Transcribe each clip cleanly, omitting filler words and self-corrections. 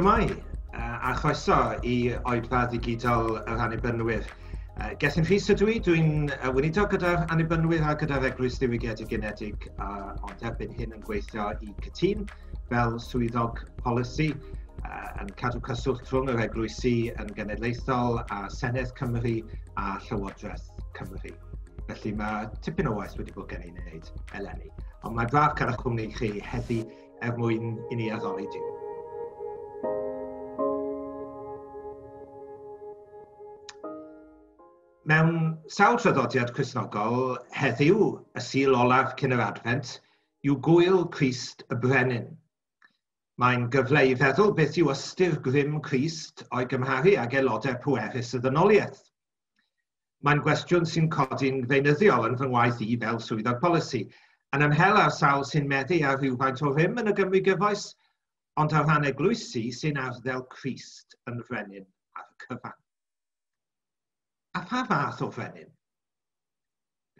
Shwmae, a chroeso i oedfa ddigidol yr Annibynwyr. Gethin Rhys ydw i, dwi'n weinidog gyda'r Annibynwyr a gyda'r Eglwys Ddiwygiedig Unedig, ond erbyn hyn yn gweithio i Cytûn fel swyddog polisi, yn cadw cyswllt rhwng yr eglwysi yn genedlaethol a Senedd Cymru a Llywodraeth Cymru. Felly mae tipyn o waith wedi bod gen i wneud eleni. Ond mae braf cael eich cwmni chi heddi er mwyn i ni addoli Duw. Mewn sawl traddodiad Cristnogol, heddiw, y Sul olaf cyn yr Adfent, yw gŵyl Crist y Brenin. Mae'n gyfle i feddwl beth yw ystyr grym Crist o'i gymharu ag aelodau pwerus y ddynoliaeth. Mae'n gwestiwn sy'n codi'n feunyddiol yn fy ngwaith i fel swyddog polisi, yn ymhel â'r sawl sy'n meddu ar rhywfaint o rym yn y Gymru gyfoes, ond ar ran eglwysi sy'n arddel Crist yn frenin ar y cyfan. A pha fath o frenin?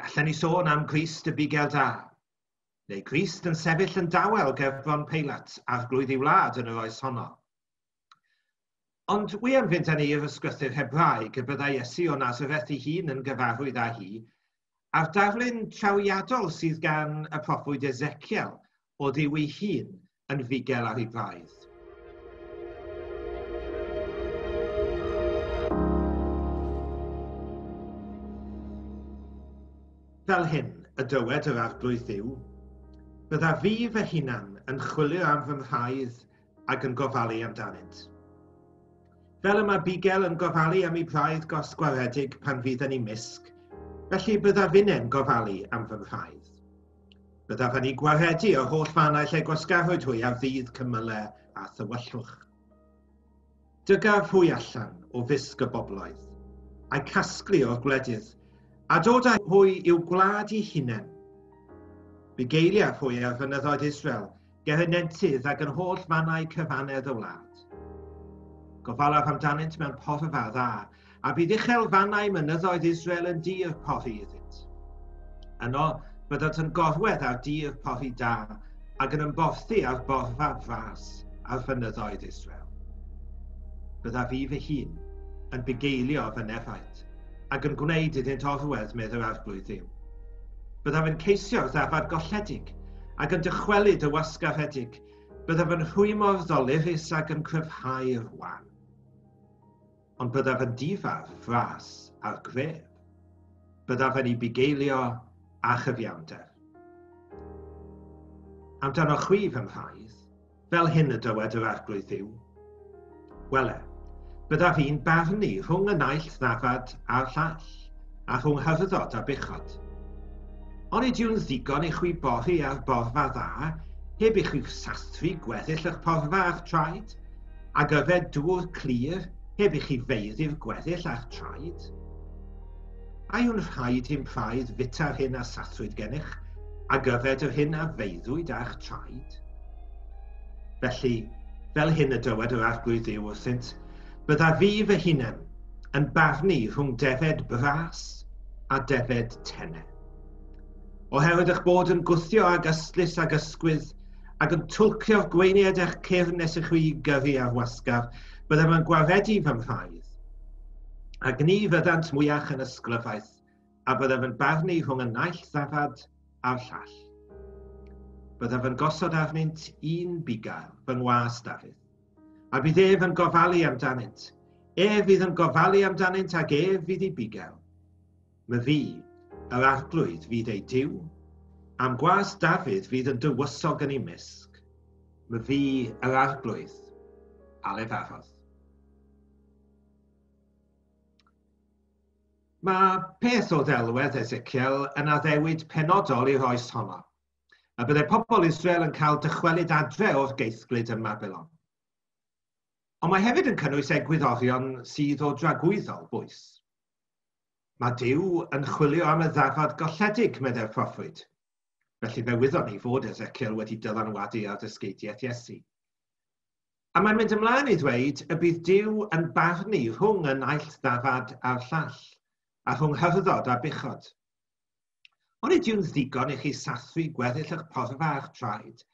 Gallen ni sôn am Grist y bugail da, neu Grist yn sefyll yn dawel gerbron Peilat, arglwydd ei wlad yn yr oes honno. Ond wi am fynd â ni i'r ysgrythur Hebraeg y byddai Iesu o Nazareth ei hun yn gyfarwydd â hi, a'r darlun trawiadol sydd gan y proffwyd Ezekiel o Dduw ei hun yn fugel ar ei braidd. Fel hyn y dywed yr Arglwydd Dduw, byddaf fi fy hunan yn chwilio am fy mhraidd ac yn gofalu amdanynt. Fel y mae bugel yn gofalu am ei braidd gosgwaredig pan fydd yn ei misg, felly byddaf finne'n gofalu am fy mhraidd. Byddaf yn ei gwaredu o'r holl fannau lle gwasgarwyd hwy ar ddydd cymylau a thywyllwch. Dygaf hwy allan o fysg y bobloedd, a'u casglu o'r gwledydd, a dod â hwy i'w gwlad eu hunain. Bugeiliaf hwy ar fynyddoedd Israel, ger y nentydd ac yn holl fannau cyfannedd y wlad. Gofalaf amdanynt mewn porfa dda, a bydd uchel fannau mynyddoedd Israel yn dir pori iddynt. Yno byddant yn gorwedd ar dir pori da, ac yn ymborthi ar borfa fras ar fynyddoedd Israel. Byddaf fi fy hun yn bugeilio fy nefaid, ac yn gwneud iddynt orwedd, medd yr Arglwydd Dduw. Byddaf yn ceisio'r ddafad golledig, ac yn dychwelyd y wasgaredig. Byddaf yn rhwymo'r ddolurus ac yn cryfhau'r wan. Ond byddaf yn difa'r fras a'r gref. Byddaf yn ei bugeilio a chyfiawnder. Amdano chwi fy mhraidd, Fel hyn y dywed yr Arglwydd Dduw, Wele, byddaf i'n barnu rhwng y naill ddafad a'r llall, a rhwng hyrddod a buchod. Onid yw'n ddigon i chwi bori ar borfa dda, heb i chwi sathru gweddill eich porfa â'ch traed, ac yfed dŵr clir, heb i chi feiddi'r gweddill â'ch traed? A yw'n rhaid i'm praidd fita'r hyn a sathrwyd gennych, ac yfed yr hyn a feiddwyd â'ch traed? Felly, fel hyn y dywed yr Arglwydd Dduw wrthynt, byddaf fi fy hunan yn barnu rhwng defed bras a defed tene. Oherwydd eich bod yn gwthio ag ystlys ag ysgwydd, ac yn twlcio'r gweiniad eich cyrn nes i chwi gyrru ar wasgar, byddaf yn gwaredu fy mhraidd. Ac ni fyddant mwyach yn ysglyfaeth, a byddaf yn barnu rhwng y naill ddafad a'r llall. Byddaf yn gosod arnynt un bugail, fy ngwas Dafydd, a bydd ef yn gofalu amdanynt. Ef fydd yn gofalu amdanynt ac ef fydd ei bugail. My fi, yr arglwydd, fydd ei Duw, a'm gwas Dafydd fydd yn dywysog yn ei mysg. My fi, yr arglwydd, a lefarodd. Mae peth o ddelwedd Ezekiel yn addewid penodol i'r oes honno, a byddai pobl Israel yn cael dychwelyd adre o'r geithglyd ym Mabilon. Ond mae hefyd yn cynnwys egwyddorion sydd o dragwyddol bwys. Mae Duw yn chwilio am y ddafad golledig, meddai'r proffwyd. Felly fe wyddon ni fod Ezekiel wedi dylanwadu ar ddysgeidiaeth Iesu. A mae'n mynd ymlaen i ddweud y bydd Duw yn barnu rhwng y naill ddafad a'r llall, a rhwng hyrddod a buchod. Onid yw'n ddigon i chi sathru gweddill eich porfa a'ch traed,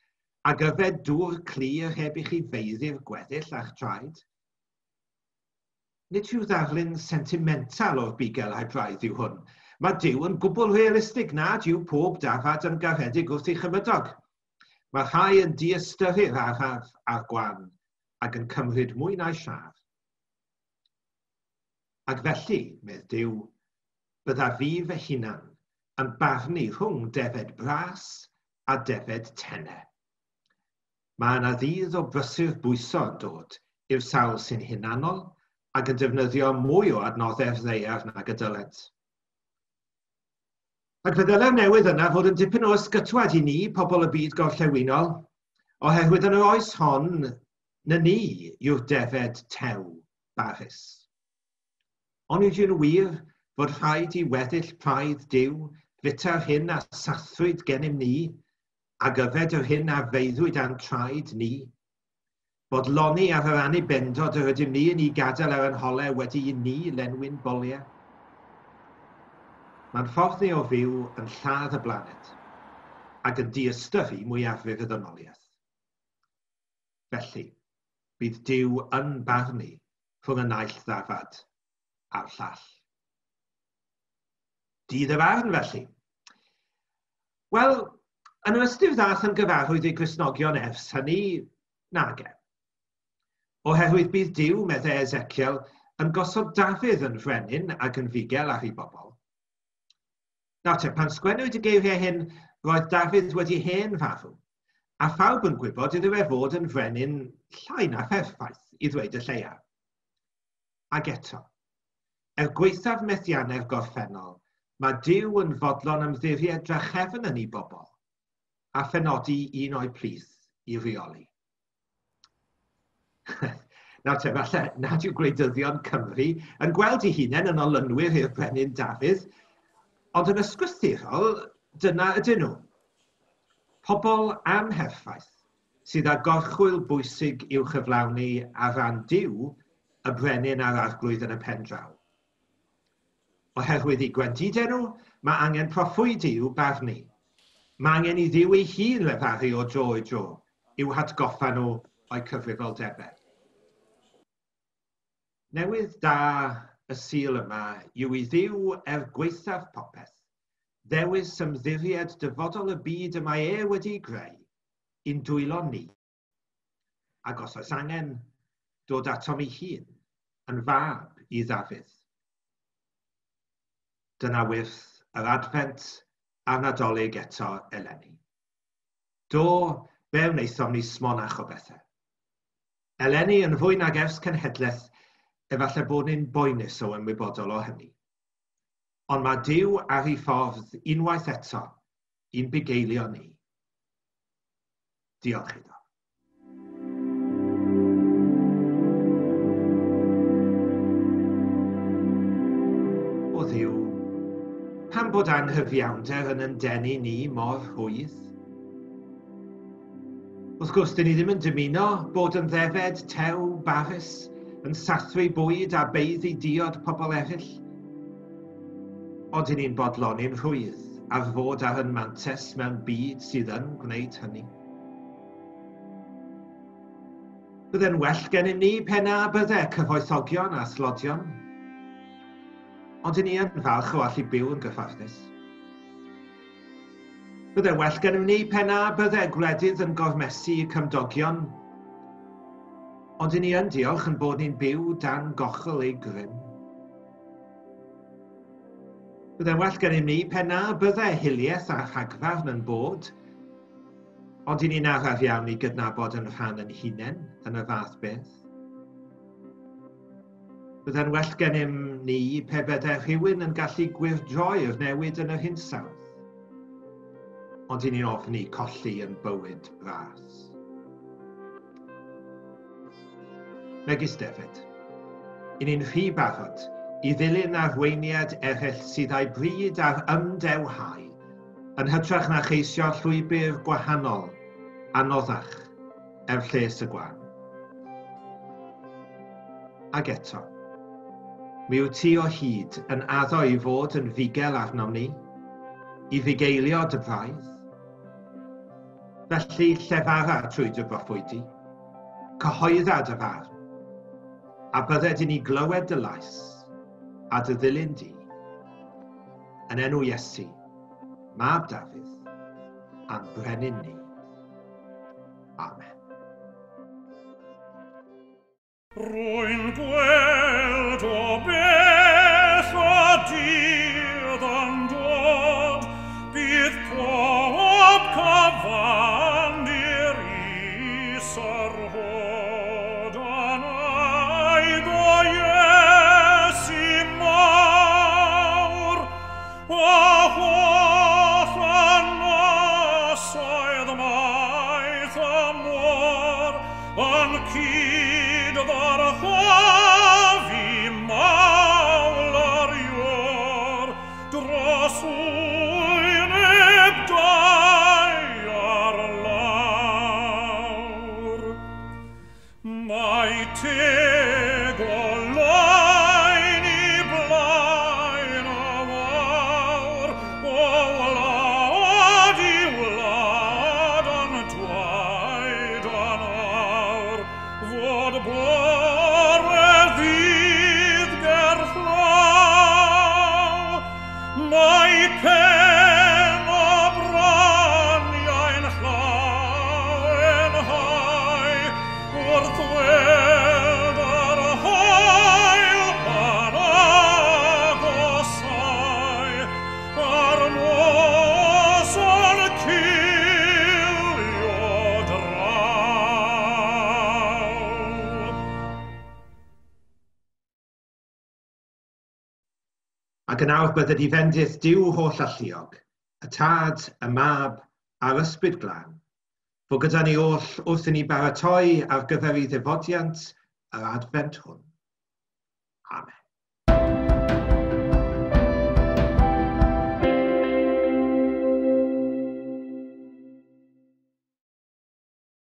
Ac yfed dŵr clir heb i chi feiddi'r gweddill a'ch traed? Nid rhyw ddarlun sentimental o'r bugel a'i braidd yw hwn. Mae Duw yn gwbl realistig nad yw pob dafad yn garedig wrth ei chymydog. Mae rhai yn diystyru'r araf a'r gwan ac yn cymryd mwy na'i siâr. Ac felly, medd Duw, bydda fi fy hunan yn barnu rhwng defed bras a defed tene. Mae yna ddydd o brysur bwyso yn dod i'r sawl sy'n hunanol ac yn defnyddio mwy o adnoddau'r ddaear nag y dylent. Ac fe ddylai'r newydd yna fod yn dipyn o ysgytwad i ni, pobl y byd gorllewinol, oherwydd yn yr oes hon, na ni yw'r defed tew barus. Onid yw'n wir fod rhaid i weddill praidd Duw fita'r hyn a sathrwyd gennym ni, ac yfed yr hyn a feiddwyd â'n traed ni? Bodloni ar yr annibendod yr ydym ni yn ei gadael ar ein holau wedi i ni lenwi'n boliau? Mae'n ffordd ni o fyw yn lladd y blaned ac yn diystyru mwyafrif y ddynoliaeth. Felly, bydd Duw yn barnu rhwng y naill ddafad a'r llall. Dydd y farn, felly. Wel, yn yr ystyr ddath yn gyfarwydd i Gristnogion ers hynny, nage. Oherwydd bydd Duw, meddai Ezekiel, yn gosod Dafydd yn frenin ac yn fugel ar ei bobl. Nawr te, pan sgwennwyd y geiriau hyn, roedd Dafydd wedi hen farw, a phawb yn gwybod iddo fe fod yn frenin llai na pherffaith, i ddweud y lleia. Ac eto, er gwaethaf methiannau'r gorffennol, mae Duw yn fodlon ymddiried drachefn yn ei bobl, a phenodi un o'i plith i reoli. Nawr te, falle nad yw gwleidyddion Cymru yn gweld eu hunain yn olynwyr i'r brenin Dafydd, ond yn ysgrythurol, dyna ydyn nhw. Pobl amherffaith sydd â gorchwyl bwysig i'w chyflawni ar ran Duw, y brenin a'r arglwydd yn y pen draw. Oherwydd eu gwendidau nhw, mae angen proffwydi i'w barnu. Mae angen i Dduw ei hun lefaru o dro i dro i'w hatgoffa nhw o'u cyfrifoldebau. Newydd da y Sul yma yw i Dduw er gwaethaf popeth, ddewis ymddiried dyfodol y byd y mae e wedi'i greu i'n dwylo ni. Ac os oes angen, dod atom ei hun, yn fab i Ddafydd. Dyna wyrth yr Adfent a'r Nadolig eto eleni. Do, fe wnaethom ni smonach o bethau. Eleni, yn fwy nag ers cenhedlaeth, efallai bod ni'n boenus o ymwybodol o hynny. Ond mae Duw ar ei ffordd unwaith eto i'n bugeilio ni. Diolch iddo. O Dduw, pam bod anghyfiawnder yn yn denu ni mor rhwydd? Wrth gwrs, dyn ni ddim yn dymuno bod yn ddefed, tew, barus, yn sathru bwyd a beiddi diod pobl eraill. Ond dyn ni'n bodloni'n rhwydd ar fod ar yn mantes mewn byd sydd yn gwneud hynny. Bydde'n well gennym ni pe na bydde cyfoethogion a thlodion. Ond dyn ni yn falch o allu byw yn gyfforddus. Bydde well gennym ni pe na bydde gwledydd yn gormesu cymdogion. Ond dyn ni yn diolch yn bod ni'n byw dan gochel ei grym. Bydde well gennym ni pe na bydde hiliaeth a rhagfarn yn bod, ond dyn ni'n araf iawn i gydnabod yn rhan yn hunain yn y fath beth. Bydde'n well gennym ni pe bydde rhywun yn gallu gwyrdroi'r newid yn yr hinsawdd. Ond dyn ni'n ofni colli yn bywyd bras. Megis David, i ni'n rhy barod i ddilyn arweiniad eraill sydd â'i bryd ar ymdewhau, yn hytrach na cheisio llwybr gwahanol, anoddach, er lles y gwan. Ac eto, mi wyt ti o hyd yn addo i fod yn fugel arnom ni, i fugeilio dy braidd. Felly llefara trwy dy broffwydi, cyhoedda dy farn, a bydded i ni glywed dy lais a dy ddilyn di, yn enw Iesu, mab Dafydd, a'n brenin ni. Amen. Rwy'n gweld o bell o dydd yn dod, bydd pob cyfan i'r is yr hod, yn aedd o Iesu mawr, o holl ynysoedd maith y môr, yn cyd ddyrchafu mawl yr iôr, dros wyneb daear lawr. Mae teg oleuni blaen y wawr, o wlad i wlad yn dwaed yn awr, fod bore ddydd gerllaw. Mae pen o braniau'n llawenhau, wrth weld yr haul yn agosáu, a'r nos yn cilio draw. Ac yn awr bydded i fendith Duw holl alluog, y Tad, y Mab, a'r Ysbryd Glân, fod gyda ni oll wrth i ni baratoi ar gyfer ei ddyfodiant yr Adfent hwn. Amen.